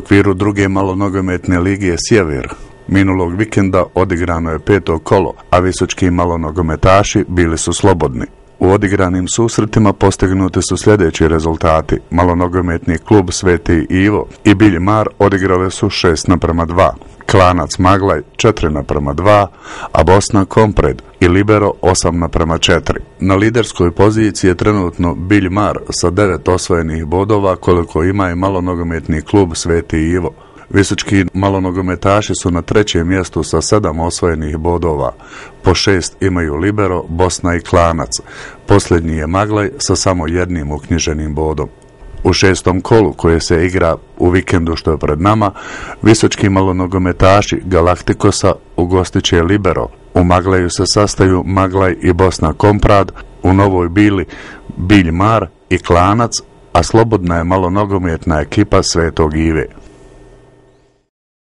okviru druge malonogometne lige Sjever minulog vikenda odigrano je 5. kolo, a visočki malonogometaši bili su slobodni. U odigranim susretima postignuti su sljedeći rezultati. Malonogometni klub Sveti Ivo i Bilj Mar odigrali su 6:2, Klanac Maglaj 4:2, a Bosna Kompred i Libero 8:4. Na liderskoj poziciji je trenutno Bilj Mar sa 9 osvojenih bodova, koliko ima i malonogometni klub Sveti Ivo. Visočki malonogometaši su na 3. mjestu sa 7 osvojenih bodova. Po 6 imaju Libero, Bosna i Klanac. Posljednji je Maglaj sa samo 1 uknjiženim bodom. U 6. kolu koje se igra u vikendu što je pred nama, visočki malonogometaši Galaktikosa ugostit će Libero. U Maglaju se sastaju Maglaj i Bosna Komprad, u Novoj Bili Bilj Mar i Klanac, a slobodna je malonogometna ekipa Svetog Ive.